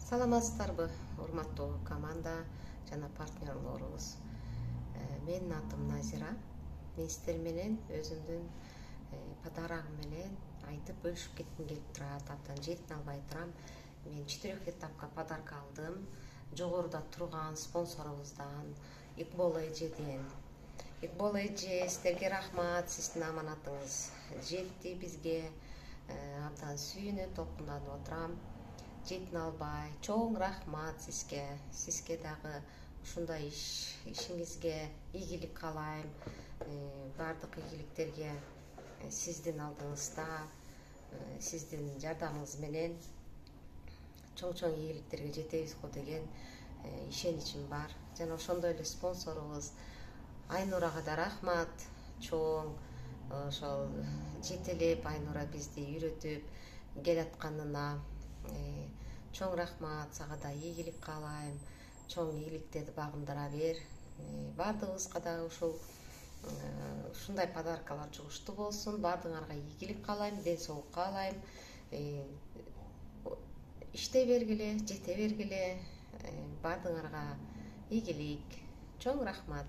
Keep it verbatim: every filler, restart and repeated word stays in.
Саламатсыздарбы, урматтуу команда жана партнерлорубуз. Менин атым Назира. Мен сиздер менен өзүмдүн подарагым менен айтып бөлүшүп кетким келип турат. Абдан жетин албай турам. Мен четырех этапка подарка алдым. Жогоруда турган спонсорубуздан Икбол эжеден. Икбол эже, сиздерге рахмат. Сиздин аманатыңыз жетти бизге. Абдан сүйүнүп, толкунданып отурам. Жетин албай, чоң рахмат сизге. Сизге дагы ушундай иш ишиңизге ийгилик каалайм. Баардык ийгиликтерге сиздин алдыңызда, сиздин жардамыңыз менен чоң-чоң ийгиликтерге жетебиз го деген ишеничим бар. Жана ошондой эле спонсорубуз Айнурага да рахмат. Чоң ошол жетелеп Айнура бизди үйрөтүп келатканына чоң рахмат. Сага да ийгилик каалайм. Чоң ийгиликтерди багындыра бер. Баардыгыбызга да ушул ушундай подаркалар жугуштуу болсун. Баардыгыңарга ийгилик каалайм, ден соолук каалайм. Иштей бергиле, жете бергиле. Баардыгыңарга ийгилик. Чоң рахмат.